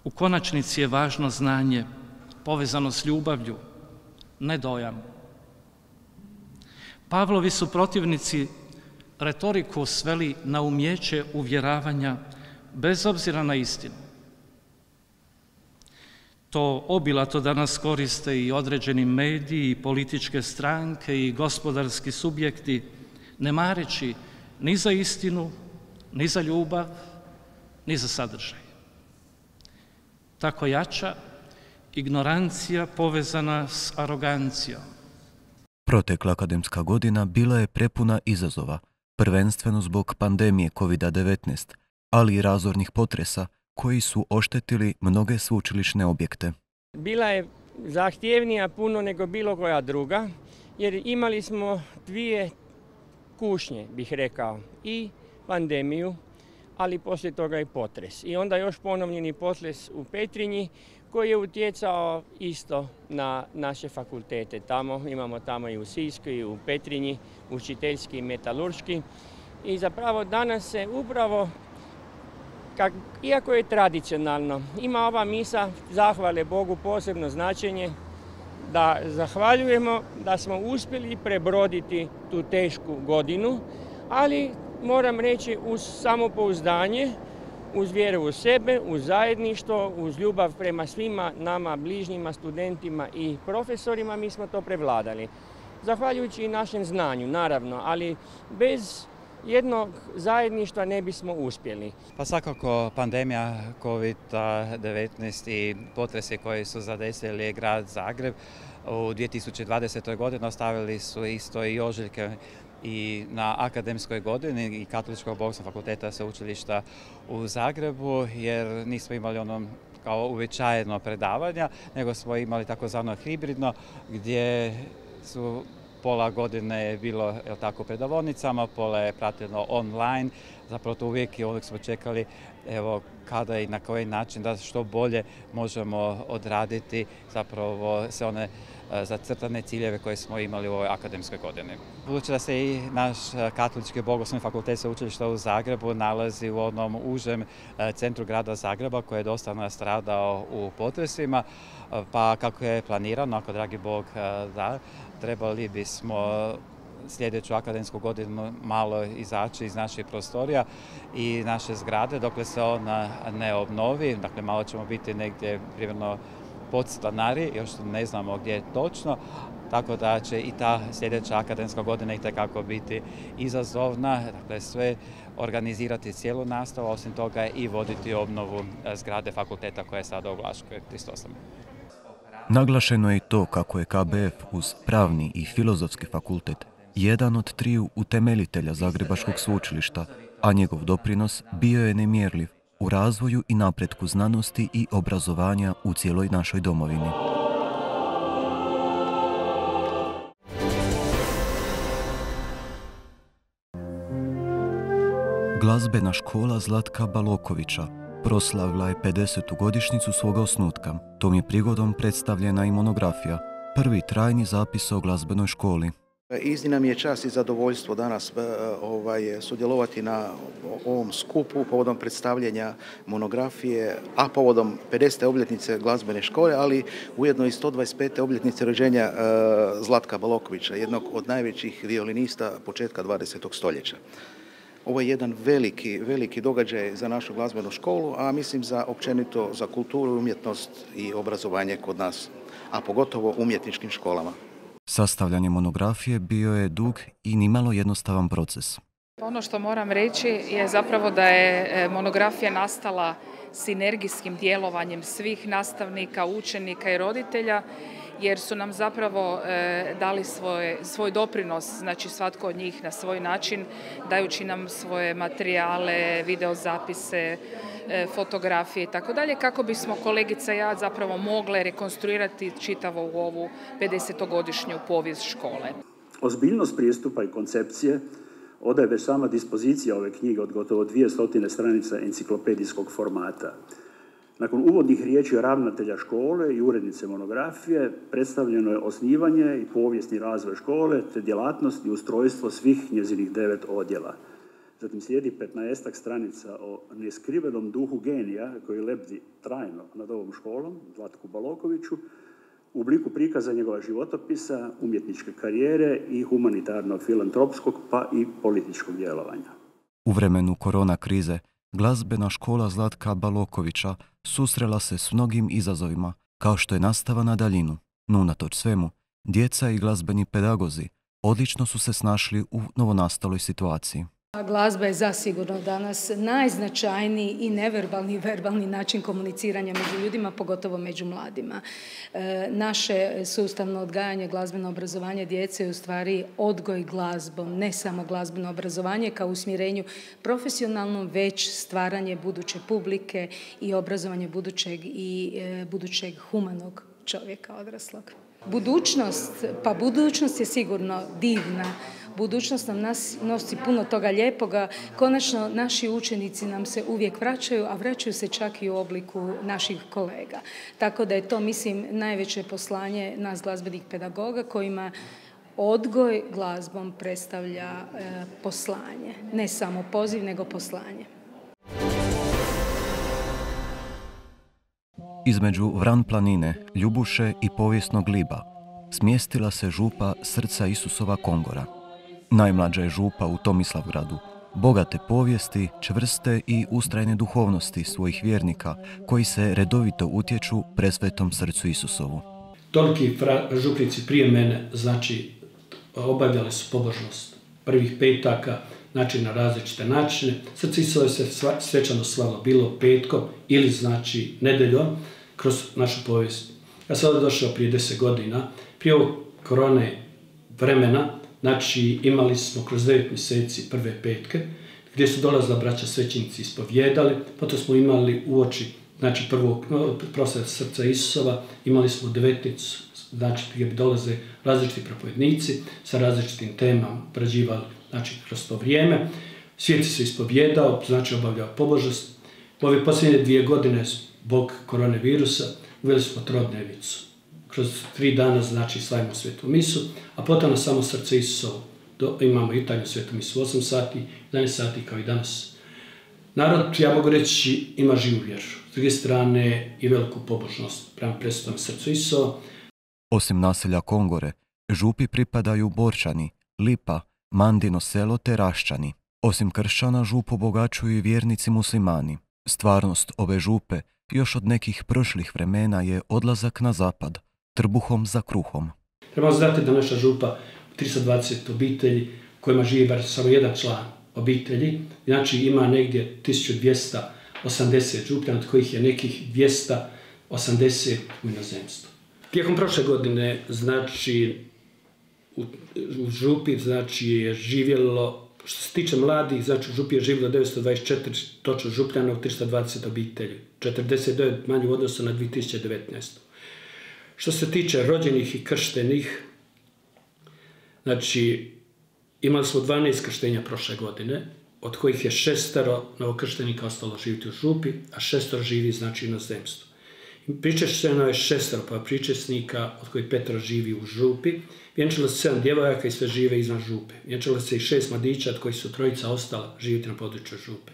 U konačnici je važno znanje, povezano s ljubavlju, ne dojam. Pavlovi su protivnici retoriku sveli na umijeće uvjeravanja bez obzira na istinu. To obilato danas koriste i određeni mediji, i političke stranke, i gospodarski subjekti, ne mareći ni za istinu, ni za ljubav, ni za sadržaj. Tako jača ignorancija povezana s arogancijom.
Protekla akademska godina bila je prepuna izazova, prvenstveno zbog pandemije COVID-19, ali i razornih potresa koji su oštetili mnoge sveučilišne objekte.
Bila je zahtjevnija puno nego bilo koja druga, jer imali smo dvije kušnje, bih rekao, i pandemiju, ali poslije toga i potres. I onda još ponovljeni potres u Petrinji koji je utjecao isto na naše fakultete. Imamo tamo i u Sisku i u Petrinji, učiteljski i metalurški. I zapravo danas se upravo, iako je tradicionalno, ima ova misa zahvale Bogu posebno značenje, da zahvaljujemo da smo uspjeli prebroditi tu tešku godinu, ali moram reći uz samopouzdanje, uz vjeru u sebe, uz zajedništvo, uz ljubav prema svima nama bližnjima, studentima i profesorima, mi smo to prevladali. Zahvaljujući i našem znanju, naravno, ali bez jednog zajedništva ne bismo uspjeli.
Pa svakako pandemija COVID-19 i potresi koji su zadesili grad Zagreb u 2020. godini ostavili su isto i ožiljke i na akademskoj godini i Katoličkog bogoslovnog fakulteta sveučilišta u Zagrebu, jer nismo imali kao uobičajeno predavanja, nego smo imali takozvano hibridno, gdje su pola godine je bilo tako predavonicama, pola je pratilo online. Zapravo to uvijek i uvijek smo čekali kada i na koji način da što bolje možemo odraditi zapravo sve one zacrtane ciljeve koje smo imali u ovoj akademskoj godini. Budući da se i naš Katolički bogoslovni fakultet sveučilišta u Zagrebu nalazi u onom užem centru grada Zagreba koji je dosta nastradao u potresima, pa kako je planirano, ako dragi Bog da, trebali bismo sljedeću akademsku godinu malo izaći iz naših prostorija i naše zgrade dokle se ona ne obnovi. Dakle, malo ćemo biti negdje primjerno podstanari, još ne znamo gdje je točno, tako da će i ta sljedeća akademska godina itekako biti izazovna. Dakle, sve organizirati cijelu nastavu, osim toga i voditi obnovu zgrade fakulteta koja je sada u Vlaškoj 38.
Naglašeno je i to kako je KBF uz Pravni i Filozofski fakultet jedan od triju utemeljitelja Zagrebačkog sveučilišta, a njegov doprinos bio je nemjerljiv u razvoju i napretku znanosti i obrazovanja u cijeloj našoj domovini. Glazbena škola Zlatka Balokovića proslavila je 50. godišnjicu svoga osnutka. Tom je prigodom predstavljena i monografija, prvi trajni zapis o glazbenoj školi.
Iznimna mi je čast i zadovoljstvo danas sudjelovati na ovom skupu povodom predstavljanja monografije, a povodom 50. obljetnice glazbene škole, ali ujedno i 125. obljetnice rođenja Zlatka Balokovića, jednog od najvećih violinista početka 20. stoljeća. Ovo je jedan veliki događaj za našu glazbenu školu, a mislim općenito za kulturu, umjetnost i obrazovanje kod nas, a pogotovo umjetničkim školama.
Sastavljanje monografije bio je dug i nimalo jednostavan proces.
Ono što moram reći je zapravo da je monografija nastala sinergijskim djelovanjem svih nastavnika, učenika i roditelja, jer su nam zapravo dali svoj doprinos, znači svatko od njih na svoj način, dajući nam svoje materijale, videozapise, fotografije i tako dalje, kako bismo kolegica i ja zapravo mogle rekonstruirati čitavo u ovu 50-godišnju povijest škole.
Ozbiljnost prijestupa i koncepcije odaje već sama dispozicija ove knjige od gotovo 200 stranica enciklopedijskog formata. Nakon uvodnih riječi ravnatelja škole i urednice monografije predstavljeno je osnivanje i povijesni razvoj škole te djelatnost i ustrojstvo svih njezinih 9 odjela. Zatim slijedi 15 stranica o neskrivenom duhu genija koji lebdi trajno nad ovom školom, Zlatku Balokoviću, u obliku prikaza njegova životopisa, umjetničke karijere i humanitarno-filantropskog pa i političkog djelovanja.
U vremenu korona krize, glazbena škola Zlatka Balokovića susrela se s mnogim izazovima, kao što je nastava na daljinu. No unatoč svemu, djeca i glazbeni pedagozi odlično su se snašli u novonastaloj situaciji.
Glazba je zasigurno danas najznačajniji i neverbalni i verbalni način komuniciranja među ljudima, pogotovo među mladima. Naše sustavno odgajanje, glazbeno obrazovanje djece je u stvari odgoj glazbom, ne samo glazbeno obrazovanje kao usmjerenju profesionalnom, već stvaranje buduće publike i obrazovanje budućeg humanog čovjeka odraslog. Budućnost je sigurno divna. Budućnost nam nosi puno toga lijepoga. Konačno, naši učenici nam se uvijek vraćaju, a vraćaju se čak i u obliku naših kolega. Tako da je to, mislim, najveće poslanje nas glazbenih pedagoga kojima odgoj glazbom predstavlja poslanje. Ne samo poziv, nego poslanje.
Između Vran planine, Ljubuše i povijesnog Liba smjestila se župa Srca Isusova Kongora. Najmlađa je župa u Tomislavgradu, bogate povijesti, čvrste i ustrajne duhovnosti svojih vjernika koji se redovito utječu presvetom Srcu Isusovu.
Toliki župnici prije mene, znači, obavljali su pobožnost prvih petaka, znači na različite načine. Srce Isusove se svečano slavilo bilo petkom ili znači nedeljom kroz našu povijest. Ja sam ovdje došao prije 10 godina, prije ovog korone vremena, znači imali smo kroz 9 mjeseci prve petke, gdje su dolazila braća svećenici ispovjedali, potom smo imali uoči, znači prvog proslave Srca Isusova, imali smo 19, znači gdje bi dolaze različiti propovednici sa različitim temama, obrađivali, znači kroz to vrijeme. Svijet se ispovjedao, znači obavljao pobožnost. U ove posljednje 2 godine zbog koronavirusa uveli smo trodnevicu. Kroz 3 dana, znači, slavimo svetu misu, a potom na samo Srce Isusovo imamo jutarnju svetu misu 8 sati, 11 sati kao i danas. Narod, ja mogu reći, ima živu vjeru. S druge strane i veliku pobožnost prema presvetom Srcu Isusova.
Osim naselja Kongore, župi pripadaju Borčani, Lipa, Mandino selo te Raščani. Osim kršćana, župu obogaćuju i vjernici muslimani. Stvarnost ove župe još od nekih prošlih vremena je odlazak na zapad, trbuhom za kruhom.
Trebamo znati da naša župa 320 obitelji kojima živi bar samo jedan član obitelji, znači ima negdje 1280 župljana, od kojih je nekih 280 u inozemstvu. Tijekom prošle godine, znači, u župi, znači, je živjelo, što se tiče mladih, znači u župi je živjelo 924 točno župljana u 320 obitelji, 49 manje u odnosu na 2019. Što se tiče rođenih i krštenih, znači, imali smo 12 krštenja prošle godine, od kojih je 6 novokrštenika ostalo živjeti u župi, a 6 živi, znači, u inozemstvu. Pričešćeno je 6 pričesnika, od kojih 5 živi u župi. Vjenčalo se 7 djevojaka i sve žive izvan župe. Vjenčalo se i 6 mladića, od kojih su 3 ostala živjeti na području župe.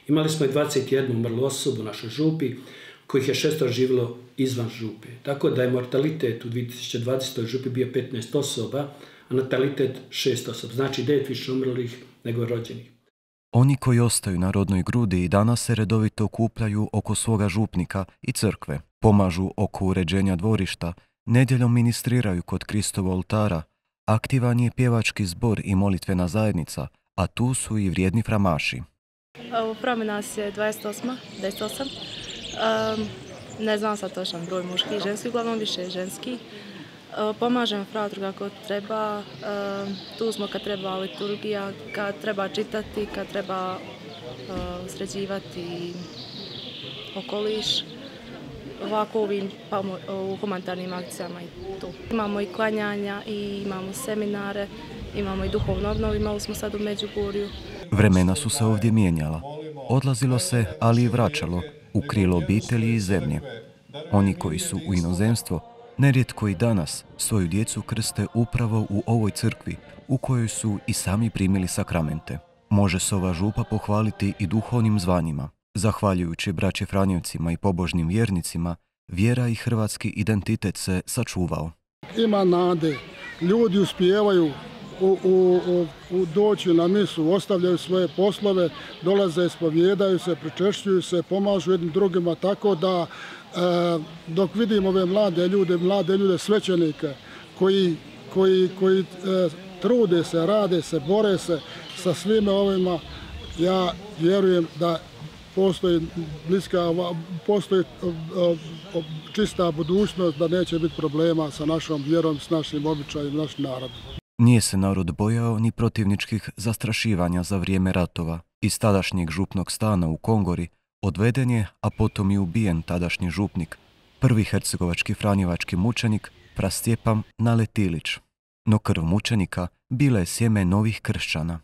Imali smo i 21 umrlu osobu u našoj župi, kojih je 6 živjelo izvan župe. Tako da je mortalitet u 2020. župi bio 15 osoba, a natalitet 6 osoba. Znači 9 više umrlih nego rođenih.
Oni koji ostaju na rodnoj grudi i danas se redovito okupljaju oko svoga župnika i crkve, pomažu oko uređenja dvorišta, nedjeljom ministriraju kod Kristovog oltara, aktivan je pjevački zbor i molitvena zajednica, a tu su i vrijedni framaši.
U Frame nas je 28. Ne znam sad točan broj muški i ženski, uglavnom više ženski. Pomažem fratru kako treba, tu smo kad treba liturgija, kad treba čitati, kad treba sređivati okoliš, ovako u humanitarnim akcijama i tu. Imamo i klanjanja i imamo seminare, imamo i duhovnu obnovu, imali smo sad u Međugorju.
Vremena su se ovdje mijenjala. Odlazilo se, ali i vraćalo, u krilo obitelji i zemlje. Oni koji su u inozemstvo, nerijetko i danas svoju djecu krste upravo u ovoj crkvi u kojoj su i sami primili sakramente. Može se ova župa pohvaliti i duhovnim zvanjima. Zahvaljujući braći Franjevcima i pobožnim vjernicima, vjera i hrvatski identitet se sačuvao.
Ima nade. Ljudi uspijevaju doći na misu, ostavljaju svoje poslove, dolaze, ispovjedaju se, pričešćuju se, pomažu jednim drugima, tako da dok vidim ove mlade ljude svećenike koji trude se, rade se, bore se sa svime ovima, ja vjerujem da postoji čista budućnost, da neće biti problema sa našom vjerom, s našim običajem, našim narodom.
Nije se narod bojao ni protivničkih zastrašivanja za vrijeme ratova. Iz tadašnjeg župnog stana u Kongori odveden je, a potom i ubijen tadašnji župnik, prvi hercegovački franjevački mučenik Prastjepan Naletilić. No krv mučenika bila je sjeme novih kršćana.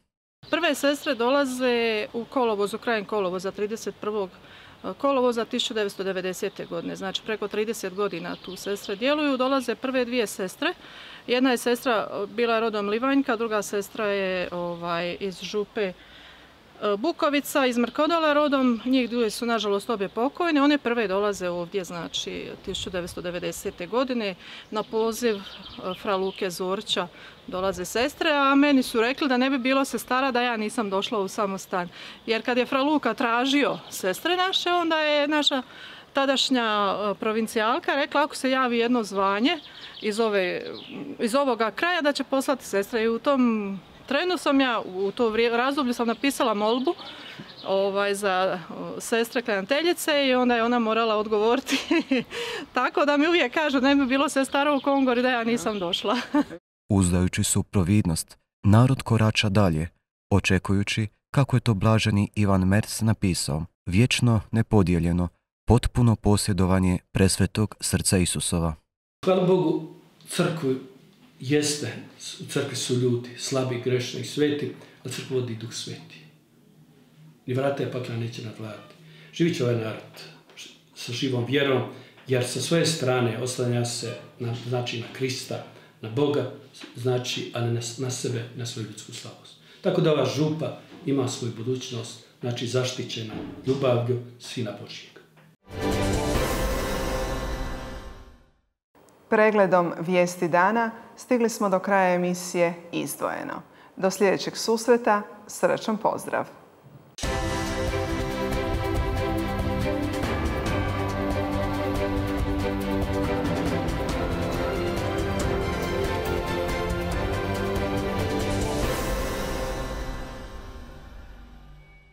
Prve sestre dolaze u kolovozu, krajem kolovoza, 31. kolovoza 1990. godine. Znači preko 30 godina tu sestre djeluju. Dolaze prve dvije sestre. Jedna je sestra bila rodom Livanjka, druga sestra je iz župe Bukovica, iz Mrkodola rodom. Njih dvije su nažalost obje pokojne. One prve dolaze ovdje, znači 1990. godine. Na poziv fra Luke Zorća dolaze sestre, a meni su rekli da ne bi bilo sestara da ja nisam došla u samostan. Jer kad je fra Luka tražio sestre naše, onda je naša tadašnja provincijalka rekla ako se javi jedno zvanje iz ovoga kraja da će poslati sestre. I u tom trenu sam ja, u to razdoblju sam napisala molbu za sestre klanjateljice i onda je ona morala odgovoriti. Tako da mi uvijek kažu ne bi bilo sestara u Kongori da ja nisam došla.
Uzdajući se u providnost, narod korača dalje, očekujući, kako je to blaženi Ivan Merz napisao, vječno nepodijeljeno, potpuno posjedovanje presvetog srca Isusova.
Hvala Bogu, crkvu jeste, u crkvi su ljudi, slabi, grešni i sveti, a crkvu vodi Duh Sveti. Ni vrata pakla neće nadvladati. Živit će ovaj narod sa živom vjerom, jer sa svoje strane oslanja se na Krista, na Boga, a ne na sebe, na svoju ljudsku slabost. Tako da ova župa ima svoju budućnost, zaštićena ljubavlju Sina Božjeg.
Pregledom vijesti dana stigli smo do kraja emisije Izdvojeno. Do sljedećeg susreta, srećan pozdrav!